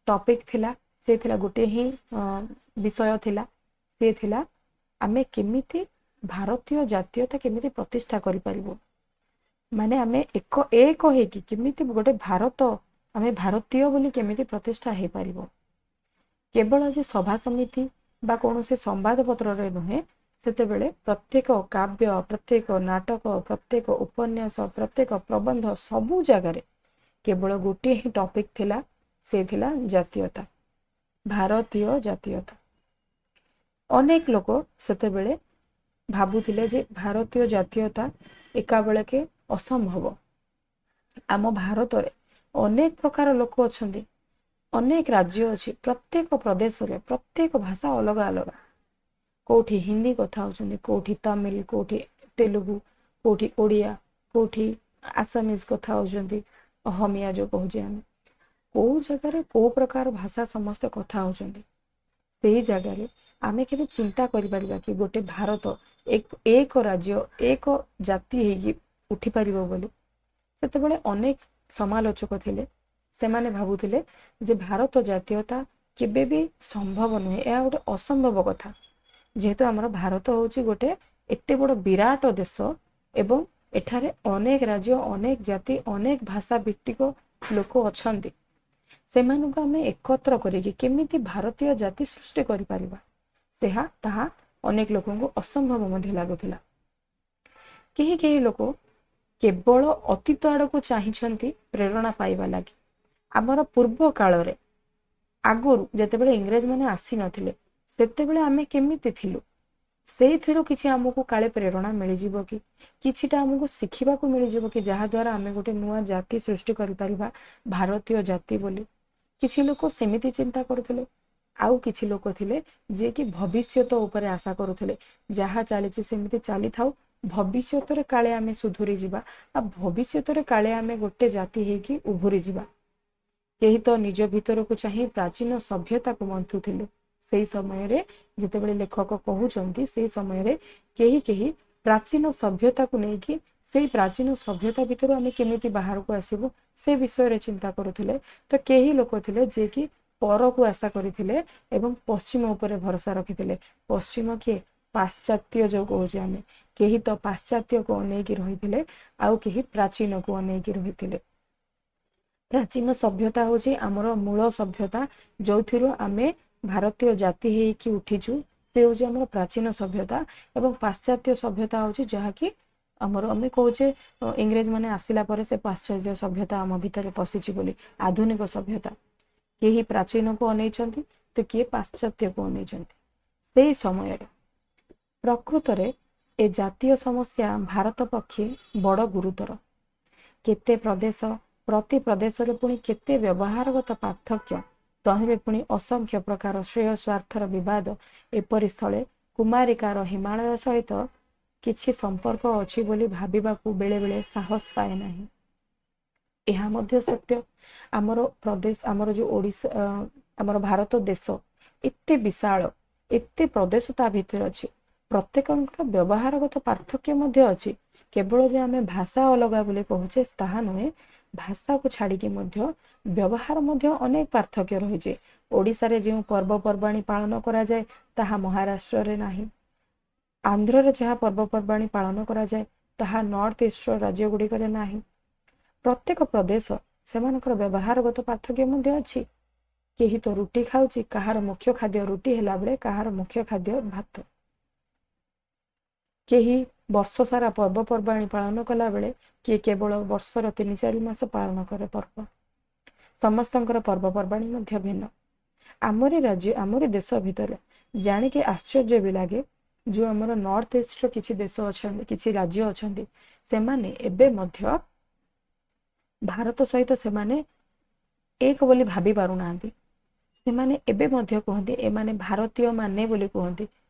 ଟପିକ୍ ଥିଲା, ସେ ଥିଲା ଗୋଟିଏ ହିଁ ବିଷୟ ଥିଲା, ସେ ଥିଲା ଆମେ କେମିତି ଭାରତୀୟ ଜାତୀୟତା କେମିତି ପ୍ରତିଷ୍ଠା କରିପାରିବୁ, ମାନେ ଆମେ ଏକ ଏକ ହେଇକି କେମିତି ଗୋଟେ ଭାରତ, ଆମେ ଭାରତୀୟ ବୋଲି କେମିତି ପ୍ରତିଷ୍ଠା ହେଇପାରିବ। କେବଳ ଯେ ସଭା ସମିତି ବା କୌଣସି ସମ୍ବାଦପତ୍ରରେ ନୁହେଁ, ସେତେବେଳେ ପ୍ରତ୍ୟେକ କାବ୍ୟ, ପ୍ରତ୍ୟେକ ନାଟକ, ପ୍ରତ୍ୟେକ ଉପନ୍ୟାସ, ପ୍ରତ୍ୟେକ ପ୍ରବନ୍ଧ ସବୁ ଜାଗାରେ କେବଳ ଗୋଟିଏ ହିଁ ଟପିକ୍ ଥିଲା, ସେ ଥିଲା ଜାତୀୟତା, ଭାରତୀୟ ଜାତୀୟତା। ଅନେକ ଲୋକ ସେତେବେଳେ ଭାବୁଥିଲେ ଯେ ଭାରତୀୟ ଜାତୀୟତା ଏକାବେଳକେ ଅସମ୍ଭବ। ଆମ ଭାରତରେ ଅନେକ ପ୍ରକାର ଲୋକ ଅଛନ୍ତି, ଅନେକ ରାଜ୍ୟ ଅଛି, ପ୍ରତ୍ୟେକ ପ୍ରଦେଶରେ ପ୍ରତ୍ୟେକ ଭାଷା ଅଲଗା ଅଲଗା। କେଉଁଠି ହିନ୍ଦୀ କଥା ହେଉଛନ୍ତି, କେଉଁଠି ତାମିଲ, କେଉଁଠି ତେଲୁଗୁ, କେଉଁଠି ଓଡ଼ିଆ, କେଉଁଠି ଆସାମିଜ କଥା ହେଉଛନ୍ତି, ଅହମିଆ ଯେଉଁ କହୁଛେ ଆମେ। କେଉଁ ଜାଗାରେ କେଉଁ ପ୍ରକାର ଭାଷା ସମସ୍ତେ କଥା ହେଉଛନ୍ତି, ସେଇ ଜାଗାରେ ଆମେ କେବେ ଚିନ୍ତା କରିପାରିବା କି ଗୋଟେ ଭାରତ ଏକ ରାଜ୍ୟ, ଏକ ଜାତି ହେଇକି ଉଠିପାରିବ ବୋଲି? ସେତେବେଳେ ଅନେକ ସମାଲୋଚକ ଥିଲେ, ସେମାନେ ଭାବୁଥିଲେ ଯେ ଭାରତ ଜାତୀୟତା କେବେ ବି ସମ୍ଭବ ନୁହେଁ, ଏହା ଗୋଟେ ଅସମ୍ଭବ କଥା। ଯେହେତୁ ଆମର ଭାରତ ହେଉଛି ଗୋଟେ ଏତେ ବଡ଼ ବିରାଟ ଦେଶ ଏବଂ ଏଠାରେ ଅନେକ ରାଜ୍ୟ, ଅନେକ ଜାତି, ଅନେକ ଭାଷା ଭିତ୍ତିକ ଲୋକ ଅଛନ୍ତି, ସେମାନଙ୍କୁ ଆମେ ଏକତ୍ର କରିକି କେମିତି ଭାରତୀୟ ଜାତି ସୃଷ୍ଟି କରିପାରିବା, ତାହା ଅନେକ ଲୋକଙ୍କୁ ଅସମ୍ଭବ ମଧ୍ୟ ଲାଗୁଥିଲା। କେହି କେହି ଲୋକ କେବଳ ଅତୀତ ଆଡ଼କୁ ଚାହିଁଛନ୍ତି ପ୍ରେରଣା ପାଇବା ଲାଗି। ଆମର ପୂର୍ବ କାଳରେ ଆଗରୁ ଯେତେବେଳେ ଇଂରେଜମାନେ ଆସିନଥିଲେ ସେତେବେଳେ ଆମେ କେମିତି ଥିଲୁ, ସେଇଥିରୁ କିଛି ଆମକୁ କାଳେ ପ୍ରେରଣା ମିଳିଯିବ କି, କିଛିଟା ଆମକୁ ଶିଖିବାକୁ ମିଳିଯିବ କି, ଯାହାଦ୍ୱାରା ଆମେ ଗୋଟେ ନୂଆ ଜାତି ସୃଷ୍ଟି କରିପାରିବା, ଭାରତୀୟ ଜାତି ବୋଲି। କିଛି ଲୋକ ସେମିତି ଚିନ୍ତା କରୁଥିଲେ, ଆଉ କିଛି ଲୋକ ଥିଲେ ଯିଏକି ଭବିଷ୍ୟତ ଉପରେ ଆଶା କରୁଥିଲେ, ଯାହା ଚାଲିଛି ସେମିତି ଚାଲିଥାଉ, ଭବିଷ୍ୟତରେ କାଳେ ଆମେ ସୁଧୁରି ଯିବା, ଆଉ ଭବିଷ୍ୟତରେ କାଳେ ଆମେ ଗୋଟେ ଜାତି ହେଇକି ଉଭୁରି ଯିବା। କେହି ତ ନିଜ ଭିତରକୁ ଚାହିଁ ପ୍ରାଚୀନ ସଭ୍ୟତାକୁ ମନ୍ଥୁଥିଲେ। ସେଇ ସମୟରେ ଯେତେବେଳେ ଲେଖକ କହୁଛନ୍ତି, ସେଇ ସମୟରେ କେହି କେହି ପ୍ରାଚୀନ ସଭ୍ୟତାକୁ ନେଇକି ସେଇ ପ୍ରାଚୀନ ସଭ୍ୟତା ଭିତରୁ ଆମେ କେମିତି ବାହାରକୁ ଆସିବୁ ସେ ବିଷୟରେ ଚିନ୍ତା କରୁଥିଲେ। ତ କେହି ଲୋକ ଥିଲେ ଯିଏକି ପରକୁ ଆଶା କରିଥିଲେ ଏବଂ ପଶ୍ଚିମ ଉପରେ ଭରସା ରଖିଥିଲେ। ପଶ୍ଚିମ କିଏ? ପାଶ୍ଚାତ୍ୟ ଯୋଉ କହୁଛେ ଆମେ। କେହି ତ ପାଶ୍ଚାତ୍ୟକୁ ଅନେଇକି ରହିଥିଲେ, ଆଉ କେହି ପ୍ରାଚୀନକୁ ଅନେଇକି ରହିଥିଲେ। ପ୍ରାଚୀନ ସଭ୍ୟତା ହେଉଛି ଆମର ମୂଳ ସଭ୍ୟତା, ଯୋଉଥିରୁ ଆମେ ଭାରତୀୟ ଜାତି ହେଇକି ଉଠିଛୁ, ସେ ହେଉଛି ଆମର ପ୍ରାଚୀନ ସଭ୍ୟତା। ଏବଂ ପାଶ୍ଚାତ୍ୟ ସଭ୍ୟତା ହେଉଛି ଯାହାକି ଆମର ଆମେ କହୁଛେ ଇଂରେଜ ମାନେ ଆସିଲା ପରେ ସେ ପାଶ୍ଚାତ୍ୟ ସଭ୍ୟତା ଆମ ଭିତରେ ପଶିଛି ବୋଲି, ଆଧୁନିକ ସଭ୍ୟତା। କେହି ପ୍ରାଚୀନକୁ ଅନେଇଛନ୍ତି ତ କିଏ ପାଶ୍ଚାତ୍ୟକୁ ଅନେଇଛନ୍ତି। ସେଇ ସମୟରେ ପ୍ରକୃତରେ ଏ ଜାତୀୟ ସମସ୍ୟା ଭାରତ ପକ୍ଷେ ବଡ଼ ଗୁରୁତର। କେତେ ପ୍ରଦେଶ, ପ୍ରତି ପ୍ରଦେଶରେ ପୁଣି କେତେ ବ୍ୟବହାରଗତ ପାର୍ଥକ୍ୟ, ତହିଁରେ ପୁଣି ଅସଂଖ୍ୟ ପ୍ରକାର ଶ୍ରେୟ ସ୍ୱାର୍ଥର ବିବାଦ। ଏପରି ସ୍ଥଳେ କୁମାରିକାର ହିମାଳୟ ସହିତ କିଛି ସମ୍ପର୍କ ଅଛି ବୋଲି ଭାବିବାକୁ ବେଳେବେଳେ ସାହସ ପାଏ ନାହିଁ। ଏହା ମଧ୍ୟ ସତ୍ୟ। ଆମର ପ୍ରଦେଶ, ଆମର ଯୋଉ ଓଡ଼ିଶା, ଆମର ଭାରତ ଦେଶ ଏତେ ବିଶାଳ, ଏତେ ପ୍ରଦେଶ ତା ଭିତରେ ଅଛି, ପ୍ରତ୍ୟେକଙ୍କର ବ୍ୟବହାରଗତ ପାର୍ଥକ୍ୟ ମଧ୍ୟ ଅଛି। କେବଳ ଯେ ଆମେ ଭାଷା ଅଲଗା ବୋଲି କହୁଛେ ତାହା ନୁହେଁ, ଭାଷାକୁ ଛାଡ଼ିକି ମଧ୍ୟ ବ୍ୟବହାର ମଧ୍ୟ ଅନେକ ପାର୍ଥକ୍ୟ ରହିଛି। ଓଡ଼ିଶାରେ ଯେଉଁ ପର୍ବପର୍ବାଣୀ ପାଳନ କରାଯାଏ ତାହା ମହାରାଷ୍ଟ୍ରରେ ନାହିଁ। ଆନ୍ଧ୍ରରେ ଯାହା ପର୍ବପର୍ବାଣୀ ପାଳନ କରାଯାଏ ତାହା ନର୍ଥ ଇଷ୍ଟର ରାଜ୍ୟ ଗୁଡ଼ିକରେ ନାହିଁ। ପ୍ରତ୍ୟେକ ପ୍ରଦେଶ ସେମାନଙ୍କର ବ୍ୟବହାରଗତ ପାର୍ଥକ୍ୟ ମଧ୍ୟ ଅଛି। କେହି ତ ରୁଟି ଖାଉଛି, କାହାର ମୁଖ୍ୟ ଖାଦ୍ୟ ରୁଟି ହେଲା ବେଳେ କାହାର ମୁଖ୍ୟ ଖାଦ୍ୟ ଭାତ। କେହି ବର୍ଷ ସାରା ପର୍ବପର୍ବାଣୀ ପାଳନ କଲାବେଳେ କିଏ କେବଳ ବର୍ଷର 3-4 ମାସ ପାଳନ କରେ ପର୍ବ। ସମସ୍ତଙ୍କର ପର୍ବପର୍ବାଣୀ ମଧ୍ୟ ଭିନ୍ନ। ଆମରି ରାଜ୍ୟ, ଆମରି ଦେଶ ଭିତରେ ଜାଣିକି ଆଶ୍ଚର୍ଯ୍ୟ ବି ଲାଗେ, ଯେଉଁ ଆମର ନର୍ଥ ଇଷ୍ଟର କିଛି ଦେଶ ଅଛନ୍ତି, କିଛି ରାଜ୍ୟ ଅଛନ୍ତି, ସେମାନେ ଏବେ ମଧ୍ୟ ଭାରତ ସହିତ ସେମାନେ ଏକ ବୋଲି ଭାବି ପାରୁନାହାନ୍ତି। ସେମାନେ ଏବେ ମଧ୍ୟ କୁହନ୍ତି ଏମାନେ ଭାରତୀୟ ମାନେ ବୋଲି କୁହନ୍ତି।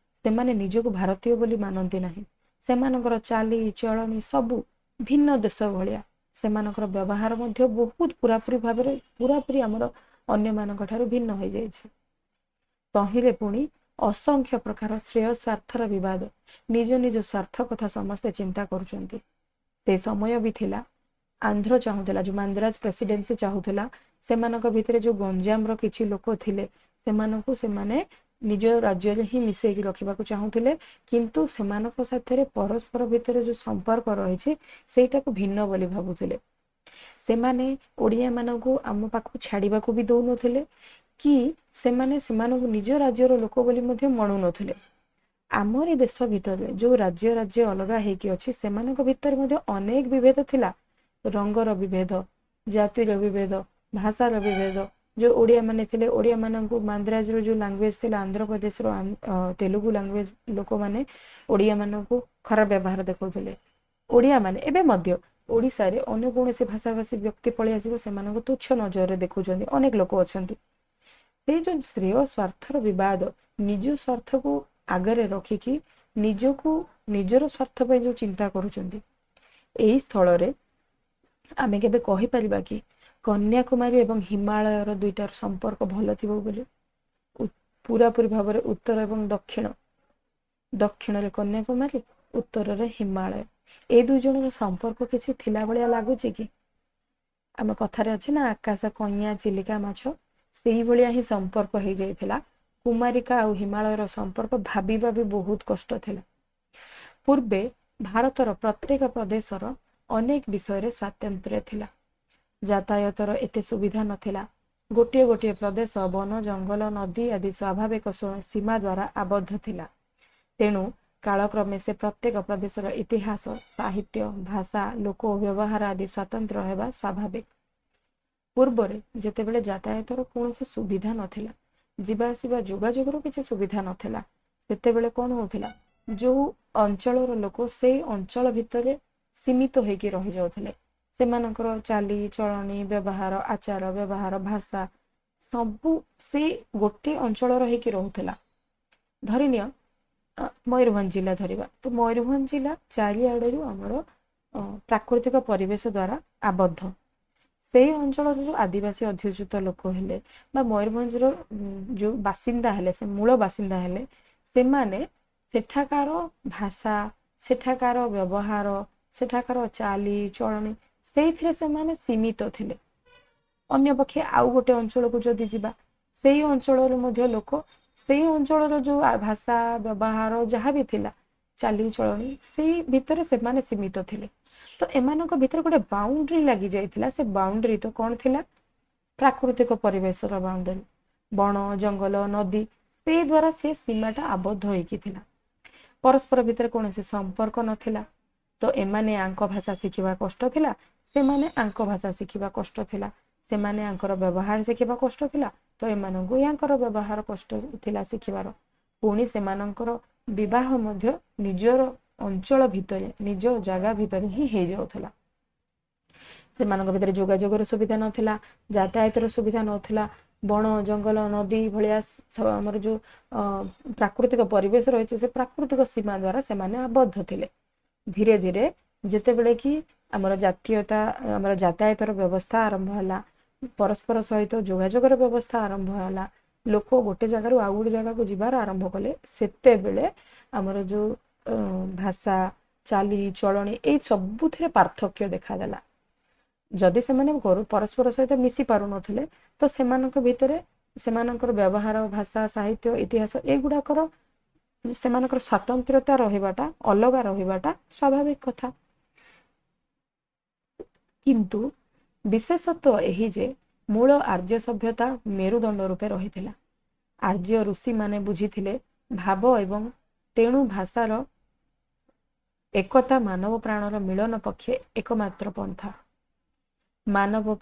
ସେମାନେ ନିଜକୁ ଭାରତୀୟ ବୋଲି ମାନନ୍ତି ନାହିଁ। ସେମାନଙ୍କର ଚାଲି ଚଳଣି ସବୁ ଭିନ୍ନ ଦେଶ ଭଳିଆ। ସେମାନଙ୍କର ବ୍ୟବହାର ମଧ୍ୟ ବହୁତ ପୁରାପୁରି ଭାବରେ ପୁରାପୁରି ଆମର ଅନ୍ୟମାନଙ୍କ ଠାରୁ ଭିନ୍ନ ହୋଇଯାଇଛି। ତହିଁରେ ପୁଣି ଅସଂଖ୍ୟ ପ୍ରକାର ଶ୍ରେୟ ସ୍ୱାର୍ଥର ବିବାଦ। ନିଜ ନିଜ ସ୍ୱାର୍ଥ କଥା ସମସ୍ତେ ଚିନ୍ତା କରୁଛନ୍ତି। ସେ ସମୟ ବି ଥିଲା, ଆନ୍ଧ୍ର ଚାହୁଁଥିଲା, ଯୋଉ ମାନ୍ଦ୍ରାଜ ପ୍ରେସିଡେନ୍ସି ଚାହୁଁଥିଲା, ସେମାନଙ୍କ ଭିତରେ ଯୋଉ ଗଞ୍ଜାମର କିଛି ଲୋକ ଥିଲେ ସେମାନଙ୍କୁ ସେମାନେ ନିଜ ରାଜ୍ୟରେ ହିଁ ମିଶେଇକି ରଖିବାକୁ ଚାହୁଁଥିଲେ, କିନ୍ତୁ ସେମାନଙ୍କ ସାଥିରେ ପରସ୍ପର ଭିତରେ ଯୋଉ ସମ୍ପର୍କ ରହିଛି ସେଇଟାକୁ ଭିନ୍ନ ବୋଲି ଭାବୁଥିଲେ। ସେମାନେ ଓଡ଼ିଆମାନଙ୍କୁ ଆମ ପାଖକୁ ଛାଡ଼ିବାକୁ ବି ଦଉନଥିଲେ କି ସେମାନେ ସେମାନଙ୍କୁ ନିଜ ରାଜ୍ୟର ଲୋକ ବୋଲି ମଧ୍ୟ ମଣୁନଥିଲେ। ଆମରି ଦେଶ ଭିତରେ ଯୋଉ ରାଜ୍ୟ ରାଜ୍ୟ ଅଲଗା ହେଇକି ଅଛି ସେମାନଙ୍କ ଭିତରେ ମଧ୍ୟ ଅନେକ ବିଭେଦ ଥିଲା। ରଙ୍ଗର ବିଭେଦ, ଜାତିର ବିଭେଦ, ଭାଷାର ବିଭେଦ। ଯୋଉ ଓଡ଼ିଆମାନେ ଥିଲେ, ଓଡ଼ିଆମାନଙ୍କୁ ମାନ୍ଦ୍ରାଜର ଯୋଉ ଲାଙ୍ଗୁଏଜ ଥିଲା, ଆନ୍ଧ୍ରପ୍ରଦେଶର ତେଲୁଗୁ ଲାଙ୍ଗୁଏଜ ଲୋକମାନେ ଓଡ଼ିଆମାନଙ୍କୁ ଖରାପ ବ୍ୟବହାର ଦେଖାଉଥିଲେ। ଓଡ଼ିଆମାନେ ଏବେ ମଧ୍ୟ ଓଡ଼ିଶାରେ ଅନ୍ୟ କୌଣସି ଭାଷାଭାଷୀ ବ୍ୟକ୍ତି ପଳେଇ ଆସିବ ସେମାନଙ୍କୁ ତୁଚ୍ଛ ନଜରରେ ଦେଖୁଛନ୍ତି, ଅନେକ ଲୋକ ଅଛନ୍ତି। ସେଇ ଯୋଉ ଶ୍ରେୟ ସ୍ୱାର୍ଥର ବିବାଦ, ନିଜ ସ୍ୱାର୍ଥକୁ ଆଗରେ ରଖିକି ନିଜକୁ ନିଜର ସ୍ୱାର୍ଥ ପାଇଁ ଯୋଉ ଚିନ୍ତା କରୁଛନ୍ତି, ଏଇ ସ୍ଥଳରେ ଆମେ କେବେ କହିପାରିବା କି କନ୍ୟାକୁମାରୀ ଏବଂ ହିମାଳୟର ଦୁଇଟାର ସମ୍ପର୍କ ଭଲ ଥିବ ବୋଲି? ପୁରାପୁରି ଭାବରେ ଉତ୍ତର ଏବଂ ଦକ୍ଷିଣ, ଦକ୍ଷିଣରେ କନ୍ୟାକୁମାରୀ, ଉତ୍ତରରେ ହିମାଳୟ, ଏଇ ଦୁଇ ଜଣର ସମ୍ପର୍କ କିଛି ଥିଲା ଭଳିଆ ଲାଗୁଛି କି? ଆମ କଥାରେ ଅଛି ନା, ଆକାଶ କଇଁଆ ଚିଲିକା ମାଛ, ସେଇଭଳିଆ ହିଁ ସମ୍ପର୍କ ହେଇଯାଇଥିଲା। କୁମାରିକା ଆଉ ହିମାଳୟର ସମ୍ପର୍କ ଭାବିବା ବି ବହୁତ କଷ୍ଟ ଥିଲା। ପୂର୍ବେ ଭାରତର ପ୍ରତ୍ୟେକ ପ୍ରଦେଶର ଅନେକ ବିଷୟରେ ସ୍ୱାତନ୍ତ୍ର୍ୟ ଥିଲା। ଯାତାୟାତର ଏତେ ସୁବିଧା ନଥିଲା। ଗୋଟିଏ ଗୋଟିଏ ପ୍ରଦେଶ ବନ, ଜଙ୍ଗଲ, ନଦୀ ଆଦି ସ୍ୱାଭାବିକ ସୀମା ଦ୍ୱାରା ଆବଦ୍ଧ ଥିଲା। ତେଣୁ କାଳକ୍ରମେ ସେ ପ୍ରତ୍ୟେକ ପ୍ରଦେଶର ଇତିହାସ, ସାହିତ୍ୟ, ଭାଷା, ଲୋକ ବ୍ୟବହାର ଆଦି ସ୍ୱାତନ୍ତ୍ର ହେବା ସ୍ୱାଭାବିକ। ପୂର୍ବରେ ଯେତେବେଳେ ଯାତାୟାତର କୌଣସି ସୁବିଧା ନଥିଲା, ଯିବା ଆସିବା ଯୋଗାଯୋଗର କିଛି ସୁବିଧା ନଥିଲା, ସେତେବେଳେ କ'ଣ ହଉଥିଲା, ଯୋଉ ଅଞ୍ଚଳର ଲୋକ ସେଇ ଅଞ୍ଚଳ ଭିତରେ ସୀମିତ ହେଇକି ରହିଯାଉଥିଲେ। ସେମାନଙ୍କର ଚାଲି ଚଳଣି, ବ୍ୟବହାର, ଆଚାର ବ୍ୟବହାର, ଭାଷା ସବୁ ସେଇ ଗୋଟିଏ ଅଞ୍ଚଳର ହେଇକି ରହୁଥିଲା। ଧରିନିଅ ମୟୂରଭଞ୍ଜ ଜିଲ୍ଲା ଧରିବା, ତ ମୟୂରଭଞ୍ଜ ଜିଲ୍ଲା ଚାରିଆଡ଼ରୁ ଆମର ପ୍ରାକୃତିକ ପରିବେଶ ଦ୍ୱାରା ଆବଦ୍ଧ। ସେଇ ଅଞ୍ଚଳର ଯୋଉ ଆଦିବାସୀ ଅଧ୍ୟୁଷିତ ଲୋକ ହେଲେ ବା ମୟୂରଭଞ୍ଜର ଯୋଉ ବାସିନ୍ଦା ହେଲେ, ସେ ମୂଳ ବାସିନ୍ଦା ହେଲେ, ସେମାନେ ସେଠାକାର ଭାଷା, ସେଠାକାର ବ୍ୟବହାର, ସେଠାକାର ଚାଲି ଚଳଣି ସେଇଥିରେ ସେମାନେ ସୀମିତ ଥିଲେ। ଅନ୍ୟପକ୍ଷେ ଆଉ ଗୋଟେ ଅଞ୍ଚଳକୁ ଯଦି ଯିବା, ସେଇ ଅଞ୍ଚଳରୁ ମଧ୍ୟ ଲୋକ ସେଇ ଅଞ୍ଚଳର ଯେଉଁ ଭାଷା, ବ୍ୟବହାର ଯାହା ବି ଥିଲା, ଚାଲିଚଳଣି, ସେଇ ଭିତରେ ସେମାନେ ସୀମିତ ଥିଲେ। ତ ଏମାନଙ୍କ ଭିତରେ ଗୋଟେ ବାଉଣ୍ଡ୍ରି ଲାଗି ଯାଇଥିଲା। ସେ ବାଉଣ୍ଡ୍ରି ତ କ'ଣ ଥିଲା? ପ୍ରାକୃତିକ ପରିବେଶର ବାଉଣ୍ଡରୀ, ବଣ ଜଙ୍ଗଲ, ନଦୀ, ସେଇ ଦ୍ୱାରା ସେ ସୀମାଟା ଆବଦ୍ଧ ହେଇକି ଥିଲା। ପରସ୍ପର ଭିତରେ କୌଣସି ସମ୍ପର୍କ ନଥିଲା। ତ ଏମାନେ ଆଙ୍କ ଭାଷା ଶିଖିବା କଷ୍ଟ ଥିଲା, ସେମାନେ ଆଙ୍କ ଭାଷା ଶିଖିବା କଷ୍ଟ ଥିଲା। ସେମାନେ ଆଙ୍କର ବ୍ୟବହାର ଶିଖିବା କଷ୍ଟ ଥିଲା, ତ ଏମାନଙ୍କୁ ୟାଙ୍କର ବ୍ୟବହାର କଷ୍ଟ ଥିଲା ଶିଖିବାର। ପୁଣି ସେମାନଙ୍କର ବିବାହ ମଧ୍ୟ ନିଜର ଅଞ୍ଚଳ ଭିତରେ, ନିଜ ଜାଗା ଭିତରେ ହିଁ ହେଇଯାଉଥିଲା। ସେମାନଙ୍କ ଭିତରେ ଯୋଗାଯୋଗର ସୁବିଧା ନଥିଲା, ଯାତାୟାତର ସୁବିଧା ନଥିଲା। ବଣ ଜଙ୍ଗଲ, ନଦୀ ଭଳିଆ ଆମର ଯେଉଁ ପ୍ରାକୃତିକ ପରିବେଶ ରହିଛି, ସେ ପ୍ରାକୃତିକ ସୀମା ଦ୍ୱାରା ସେମାନେ ଆବଦ୍ଧ ଥିଲେ। ଧୀରେ ଧୀରେ ଯେତେବେଳେ କି ଆମର ଜାତୀୟତା, ଆମର ଯାତାୟାତର ବ୍ୟବସ୍ଥା ଆରମ୍ଭ ହେଲା, ପରସ୍ପର ସହିତ ଯୋଗାଯୋଗର ବ୍ୟବସ୍ଥା ଆରମ୍ଭ ହେଲା, ଲୋକ ଗୋଟେ ଜାଗାରୁ ଆଉ ଗୋଟେ ଜାଗାକୁ ଯିବାର ଆରମ୍ଭ କଲେ, ସେତେବେଳେ ଆମର ଯେଉଁ ଭାଷା, ଚାଲି ଚଳଣି, ଏଇ ସବୁଥିରେ ପାର୍ଥକ୍ୟ ଦେଖାଦେଲା। ଯଦି ସେମାନେ ଘରୁ ପରସ୍ପର ସହିତ ମିଶି ପାରୁନଥିଲେ, ତ ସେମାନଙ୍କ ଭିତରେ ସେମାନଙ୍କର ବ୍ୟବହାର, ଭାଷା, ସାହିତ୍ୟ, ଇତିହାସ, ଏଗୁଡ଼ାକର ସେମାନଙ୍କର ସ୍ୱାତନ୍ତ୍ରତା ରହିବାଟା, ଅଲଗା ରହିବାଟା ସ୍ୱାଭାବିକ କଥା। କିନ୍ତୁ ବିଶେଷତ୍ୱ ଏହି ଯେ ମୂଳ ଆର୍ଯ୍ୟ ସଭ୍ୟତା ମେରୁଦଣ୍ଡ ରୂପେ ରହିଥିଲା। ଆର୍ଯ୍ୟ ଋଷିମାନେ ବୁଝିଥିଲେ ଭାବ ଏବଂ ତେଣୁ ଭାଷାର ଏକତା ମାନବ ପ୍ରାଣର ମିଳନ ପକ୍ଷେ ଏକମାତ୍ର ପନ୍ଥା। ମାନବ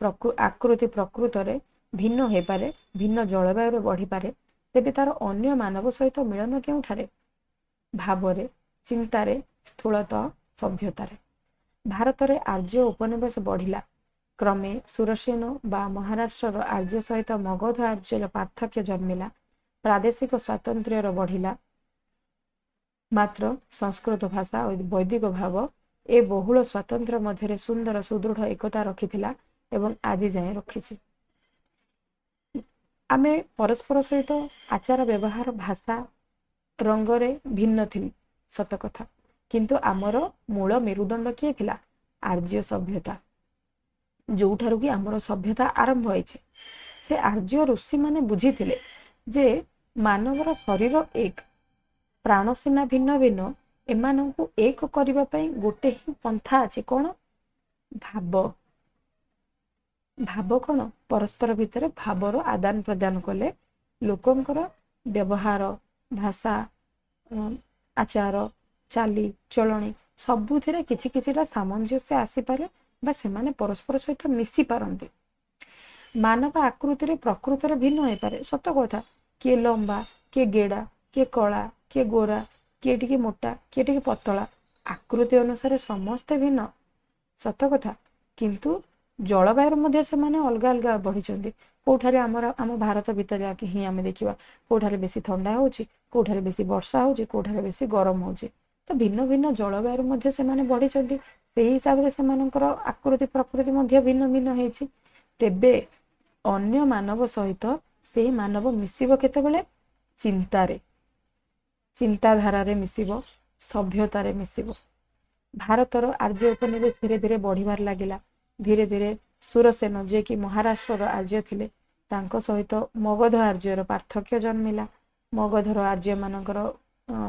ଆକୃତି ପ୍ରକୃତରେ ଭିନ୍ନ ହେଇପାରେ, ଭିନ୍ନ ଜଳବାୟୁରେ ବଢ଼ିପାରେ, ତେବେ ତାର ଅନ୍ୟ ମାନବ ସହିତ ମିଳନ କେଉଁଠାରେ? ଭାବରେ, ଚିନ୍ତାରେ, ସ୍ଥୂଳତଃ ସଭ୍ୟତାରେ। ଭାରତରେ ଆର୍ଯ୍ୟ ଉପନିବେଶ ବଢ଼ିଲା। କ୍ରମେ ସୁରସେନ ବା ମହାରାଷ୍ଟ୍ରର ଆର୍ଯ୍ୟ ସହିତ ମଗଧ ଆର୍ଯ୍ୟର ପାର୍ଥକ୍ୟ ଜନ୍ମିଲା, ପ୍ରାଦେଶିକ ସ୍ୱାତନ୍ତ୍ର୍ୟର ବଢ଼ିଲା। ମାତ୍ର ସଂସ୍କୃତ ଭାଷା ଓ ବୈଦିକ ଭାବ ଏ ବହୁଳ ସ୍ୱାତନ୍ତ୍ର୍ୟ ମଧ୍ୟରେ ସୁନ୍ଦର ସୁଦୃଢ଼ ଏକତା ରଖିଥିଲା ଏବଂ ଆଜି ଯାଏଁ ରଖିଛି। ଆମେ ପରସ୍ପର ସହିତ ଆଚାର ବ୍ୟବହାର, ଭାଷା, ରଙ୍ଗରେ ଭିନ୍ନ ଥିଲୁ, ସତ କଥା, କିନ୍ତୁ ଆମର ମୂଳ ମେରୁଦଣ୍ଡ କିଏ ଥିଲା? ଆର୍ଯ୍ୟ ସଭ୍ୟତା, ଯୋଉଠାରୁ କି ଆମର ସଭ୍ୟତା ଆରମ୍ଭ ହେଇଛି। ସେ ଆର୍ଯ୍ୟ ଋଷିମାନେ ବୁଝିଥିଲେ ଯେ ମାନବର ଶରୀର ଏକ, ପ୍ରାଣ ସିନା ଭିନ୍ନ ଭିନ୍ନ, ଏମାନଙ୍କୁ ଏକ କରିବା ପାଇଁ ଗୋଟେ ହିଁ ପନ୍ଥା ଅଛି। କ'ଣ? ଭାବ। ଭାବ କ'ଣ? ପରସ୍ପର ଭିତରେ ଭାବର ଆଦାନ ପ୍ରଦାନ କଲେ ଲୋକଙ୍କର ବ୍ୟବହାର, ଭାଷା, ଆଚାର, ଚାଲି ଚଳଣି ସବୁଥିରେ କିଛି କିଛିଟା ସାମଞ୍ଜସ୍ୟ ଆସିପାରେ ବା ସେମାନେ ପରସ୍ପର ସହିତ ମିଶି ପାରନ୍ତି। ମାନବ ଆକୃତିରେ ପ୍ରକୃତରେ ଭିନ୍ନ ହେଇପାରେ, ସତ କଥା। କିଏ ଲମ୍ବା, କିଏ ଗେଡ଼ା, କିଏ କଳା, କିଏ ଗୋରା, କିଏ ଟିକେ ମୋଟା, କିଏ ଟିକେ ପତଳା, ଆକୃତି ଅନୁସାରେ ସମସ୍ତେ ଭିନ୍ନ, ସତ କଥା। କିନ୍ତୁ ଜଳବାୟୁର ମଧ୍ୟ ସେମାନେ ଅଲଗା ଅଲଗା ବଢ଼ିଛନ୍ତି। କେଉଁଠାରେ ଆମର ଆମ ଭାରତ ଭିତରେ ହିଁ ଆମେ ଦେଖିବା, କେଉଁଠାରେ ବେଶୀ ଥଣ୍ଡା ହେଉଛି, କେଉଁଠାରେ ବେଶୀ ବର୍ଷା ହେଉଛି, କେଉଁଠାରେ ବେଶୀ ଗରମ ହେଉଛି। ତ ଭିନ୍ନ ଭିନ୍ନ ଜଳବାୟୁରେ ମଧ୍ୟ ସେମାନେ ବଢ଼ିଛନ୍ତି। ସେଇ ହିସାବରେ ସେମାନଙ୍କର ଆକୃତି ପ୍ରକୃତି ମଧ୍ୟ ଭିନ୍ନ ଭିନ୍ନ ହେଇଛି। ତେବେ ଅନ୍ୟ ମାନବ ସହିତ ସେଇ ମାନବ ମିଶିବ କେତେବେଳେ? ଚିନ୍ତାରେ, ଚିନ୍ତାଧାରାରେ ମିଶିବ, ସଭ୍ୟତାରେ ମିଶିବ। ଭାରତର ଆର୍ଯ୍ୟ ଉପନିବେଶ ଧୀରେ ଧୀରେ ବଢ଼ିବାରେ ଲାଗିଲା। ଧୀରେ ଧୀରେ ସୁରସେନ, ଯିଏକି ମହାରାଷ୍ଟ୍ରର ଆର୍ଯ୍ୟ ଥିଲେ, ତାଙ୍କ ସହିତ ମଗଧ ଆର୍ଯ୍ୟର ପାର୍ଥକ୍ୟ ଜନ୍ମିଲା। ମଗଧର ଆର୍ଯ୍ୟମାନଙ୍କର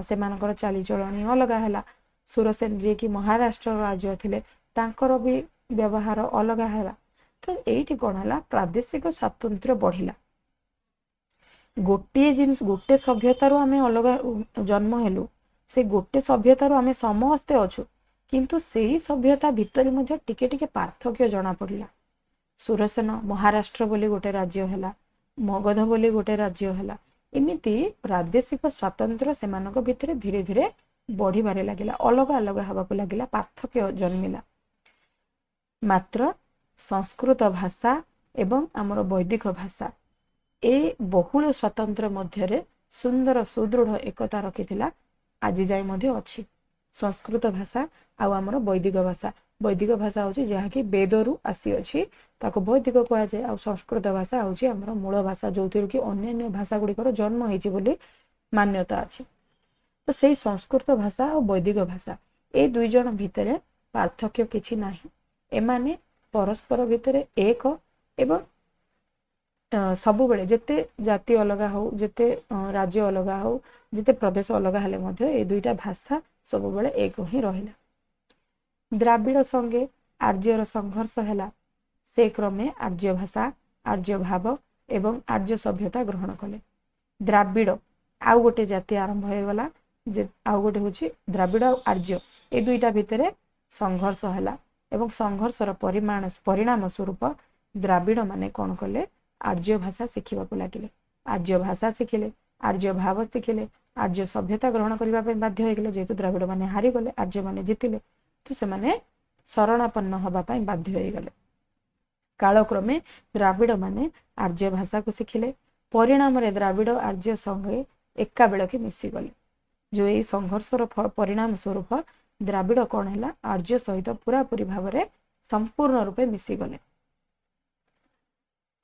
ସେମାନଙ୍କର ଚାଲିଚଳଣି ଅଲଗା ହେଲା। ସୁରସେନ, ଯିଏକି ମହାରାଷ୍ଟ୍ରର ଆର୍ଯ୍ୟ ଥିଲେ, ତାଙ୍କର ବି ବ୍ୟବହାର ଅଲଗା ହେଲା। ତ ଏଇଠି କ'ଣ ହେଲା? ପ୍ରାଦେଶିକ ସ୍ୱାତନ୍ତ୍ର୍ୟ ବଢ଼ିଲା। ଗୋଟିଏ ଜିନିଷ, ଗୋଟେ ସଭ୍ୟତାରୁ ଆମେ ଅଲଗା ଜନ୍ମ ହେଲୁ, ସେ ଗୋଟେ ସଭ୍ୟତାରୁ ଆମେ ସମସ୍ତେ ଅଛୁ, କିନ୍ତୁ ସେଇ ସଭ୍ୟତା ଭିତରେ ମଧ୍ୟ ଟିକେ ଟିକେ ପାର୍ଥକ୍ୟ ଜଣାପଡ଼ିଲା। ସୁରସେନ ମହାରାଷ୍ଟ୍ର ବୋଲି ଗୋଟେ ରାଜ୍ୟ ହେଲା, ମଗଧ ବୋଲି ଗୋଟେ ରାଜ୍ୟ ହେଲା। ଏମିତି ପ୍ରାଦେଶିକ ସ୍ୱାତନ୍ତ୍ର୍ୟ ସେମାନଙ୍କ ଭିତରେ ଧୀରେ ଧୀରେ ବଢ଼ିବାରେ ଲାଗିଲା, ଅଲଗା ଅଲଗା ହେବାକୁ ଲାଗିଲା, ପାର୍ଥକ୍ୟ ଜନ୍ମିଲା। ମାତ୍ର ସଂସ୍କୃତ ଭାଷା ଏବଂ ଆମର ବୈଦିକ ଭାଷା ଏ ବହୁଳ ସ୍ୱାତନ୍ତ୍ର୍ୟ ମଧ୍ୟରେ ସୁନ୍ଦର ସୁଦୃଢ଼ ଏକତା ରଖିଥିଲା, ଆଜି ଯାଏ ମଧ୍ୟ ଅଛି। ସଂସ୍କୃତ ଭାଷା ଆଉ ଆମର ବୈଦିକ ଭାଷା। ବୈଦିକ ଭାଷା ହେଉଛି ଯାହାକି ବେଦରୁ ଆସିଅଛି, ତାକୁ ବୈଦିକ କୁହାଯାଏ। ଆଉ ସଂସ୍କୃତ ଭାଷା ହେଉଛି ଆମର ମୂଳ ଭାଷା, ଯେଉଁଥିରୁ କି ଅନ୍ୟାନ୍ୟ ଭାଷା ଗୁଡ଼ିକର ଜନ୍ମ ହେଇଛି ବୋଲି ମାନ୍ୟତା ଅଛି। ତ ସେଇ ସଂସ୍କୃତ ଭାଷା ଆଉ ବୈଦିକ ଭାଷା, ଏ ଦୁଇ ଜଣ ଭିତରେ ପାର୍ଥକ୍ୟ କିଛି ନାହିଁ। ଏମାନେ ପରସ୍ପର ଭିତରେ ଏକ ଏବଂ ସବୁବେଳେ ଯେତେ ଜାତି ଅଲଗା ହଉ, ଯେତେ ରାଜ୍ୟ ଅଲଗା ହଉ, ଯେତେ ପ୍ରଦେଶ ଅଲଗା ହେଲେ ମଧ୍ୟ ଏ ଦୁଇଟା ଭାଷା ସବୁବେଳେ ଏକ ହିଁ ରହିଲା। ଦ୍ରାବିଡ଼ ସଙ୍ଗେ ଆର୍ଯ୍ୟର ସଂଘର୍ଷ ହେଲା। ସେ କ୍ରମେ ଆର୍ଯ୍ୟ ଭାଷା, ଆର୍ଯ୍ୟ ଭାବ ଏବଂ ଆର୍ଯ୍ୟ ସଭ୍ୟତା ଗ୍ରହଣ କଲେ। ଦ୍ରାବିଡ଼ ଆଉ ଗୋଟେ ଜାତି ଆରମ୍ଭ ହେଇଗଲା ଯେ, ଆଉ ଗୋଟେ ହେଉଛି ଦ୍ରାବିଡ଼ ଆଉ ଆର୍ଯ୍ୟ, ଏ ଦୁଇଟା ଭିତରେ ସଂଘର୍ଷ ହେଲା ଏବଂ ସଂଘର୍ଷର ପରିମାଣ ପରିଣାମ ସ୍ୱରୂପ ଦ୍ରାବିଡ଼ ମାନେ କ'ଣ କଲେ? ଆର୍ଯ୍ୟ ଭାଷା ଶିଖିବାକୁ ଲାଗିଲେ। ଆର୍ଯ୍ୟ ଭାଷା ଶିଖିଲେ, ଆର୍ଯ୍ୟ ଭାବ ଶିଖିଲେ, ଆର୍ଯ୍ୟ ସଭ୍ୟତା ଗ୍ରହଣ କରିବା ପାଇଁ ବାଧ୍ୟ ହେଇଗଲେ। ଯେହେତୁ ଦ୍ରାବିଡ଼ ମାନେ ହାରିଗଲେ, ଆର୍ଯ୍ୟମାନେ ଜିତିଲେ, ତ ସେମାନେ ଶରଣାପନ୍ନ ହେବା ପାଇଁ ବାଧ୍ୟ ହେଇଗଲେ। କାଳକ୍ରମେ ଦ୍ରାବିଡ଼ ମାନେ ଆର୍ଯ୍ୟ ଭାଷାକୁ ଶିଖିଲେ। ପରିଣାମରେ ଦ୍ରାବିଡ଼ ଆର୍ଯ୍ୟ ସଙ୍ଗେ ଏକାବେଳକେ ମିଶିଗଲେ। ଯେଉଁ ଏଇ ସଂଘର୍ଷର ପରିଣାମ ସ୍ୱରୂପ ଦ୍ରାବିଡ଼ କ'ଣ ହେଲା? ଆର୍ଯ୍ୟ ସହିତ ପୁରାପୁରି ଭାବରେ ସମ୍ପୂର୍ଣ୍ଣ ରୂପେ ମିଶିଗଲେ।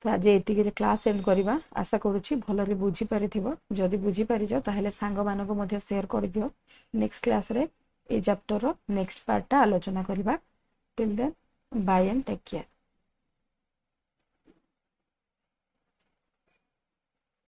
ତ ଆଜି ଏତିକିରେ କ୍ଲାସ୍ ଏଣ୍ଡ କରିବା। ଆଶା କରୁଛି ଭଲରେ ବୁଝିପାରିଥିବ। ଯଦି ବୁଝିପାରିଛ, ତାହେଲେ ସାଙ୍ଗମାନଙ୍କୁ ମଧ୍ୟ ସେୟାର କରିଦିଅ। ନେକ୍ସଟ କ୍ଲାସ୍ରେ ଏଇ ଚାପ୍ଟରର ନେକ୍ସଟ ପାର୍ଟଟା ଆଲୋଚନା କରିବା। Till then, bye and take care.